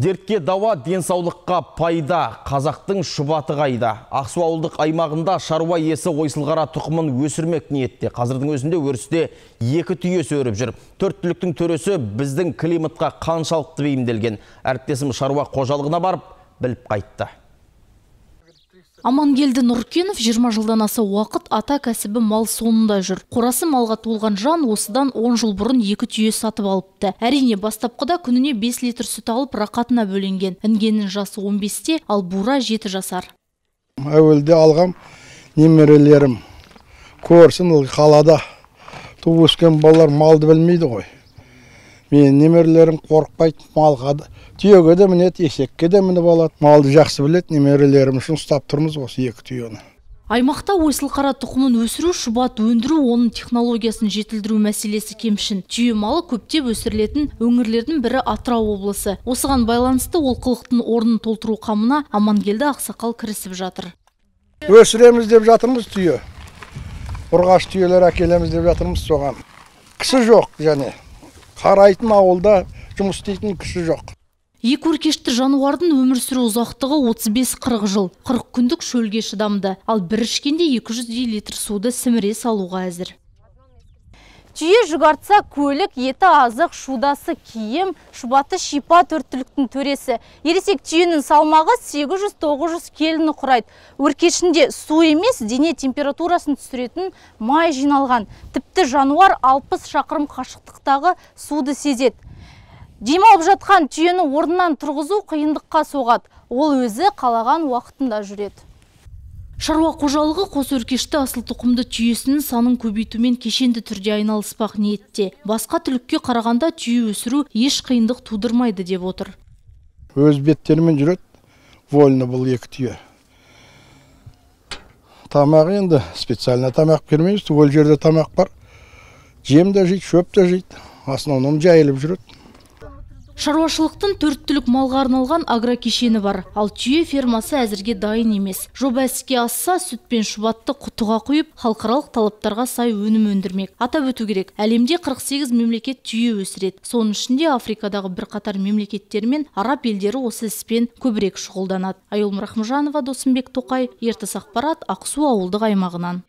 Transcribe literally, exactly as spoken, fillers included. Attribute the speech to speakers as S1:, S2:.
S1: Дертке дауа, денсаулыққа пайда, қазақтың шұбаты қайда. Ақсу ауылдық аймағында шаруа иесі ойсылғара тұқымын өсірмек ниетте. Қазірдің өзінде өрісте екі түйесі өріп жүр. Төрт түліктің төресі біздің климатқа қаншалықты бейімделген. Әріптесім шаруа қожалығына барып, біліп қайтты.
S2: Амангелді Нұркенов жиырма жылдан аса уақыт ата кәсібі мал соңында жүр. Қорасы малға толған жан осыдан он жыл бұрын екі түйе сатып алыпты. Әрине, бастапқыда күніне бес литр сүт алып рақатына бөленген. Інгеннің жасы он бесте, ал бура жеті жасар.
S3: Әуелде алғам немерелерім көрсін қалада туып өскен балалар малды білмейді ғой. Мен немерелерім қорықпайды, малға да, түйеге де мінеді, есекке де мініп алады. Малды жақсы біледі, немерелерім үшін ұстап тұрмыз осы екі түйені.
S2: Аймақта ойсылқара тұқымын өсіру, шұбат өндіру, оның технологиясын жетілдіру мәселесі кемшін. Түйе малы көптеп өсірілетін өңірлердің бірі Атырау облысы. Осыған байланысты олқылықтың орнын толтыру қамына Амангелді ақсақал кірісіп жатыр.
S3: Өсіреміз деп жатырмыз түйе. Ұрғаш түйелер әкелеміз деп жатырмыз соған. Кісі жоқ және. Қарайтын ауылда жұмыс істейтін кісі жоқ.
S2: Екі өркешті жануардың өмір сүру ұзақтығы отыз бес қырық жыл. қырық күндік шөлге шыдамды, ал бір ішкенде екі жүздей литр суды сіміре салуға әзір. Түйе жүгартса көлік, еті азық, шудасы киім, шұбаты шипа төрт түліктің төресі. Ересек түйенің салмағы сегіз жүз тоғыз жүз келіні құрайды. Өркешінде су емес, дене температурасын түсіретін май жиналған. Тіпті жануар алпыс шақырым қашықтықтағы суды сезеді. Демалып жатқан түйені орнынан тұрғызу қиындыққа соғады. Ол өзі қалаған уақытында жүреді. Шаруа қожалығы қос өркешті асыл тұқымды түйесінің санын көбейтумен кешенді түрде айналыспақ ниетте. Басқа түлікке қарағанда түйе өсіру еш қиындық тудырмайды деп отыр.
S3: Өз беттерімен жүреді, вольны бұл екі түйе. Тамақ енді специально тамақ бермейміз, ол жерде тамақ бар. Жем де жейді, шөп те жейді. Основном жайылып жүреді.
S2: Шаруашылықтың төрт түлік малға арналған агрокешені бар, ал түйе фермасы әзірге дайын емес. Жоба іске асса, сүт пен шұбатты құтыға құйып, халықаралық талаптарға сай өнім өндірмек. Атап өту керек, әлемде қырық сегіз мемлекет түйе өсіреді. Соның ішінде Африкадағы бірқатар мемлекеттер мен араб елдері осы іспен көбірек шұғылданады. Айгүл Рахымжанова, Досымбек Тоқай, Ертіс ақпарат, Ақсу ауылдық аймағынан.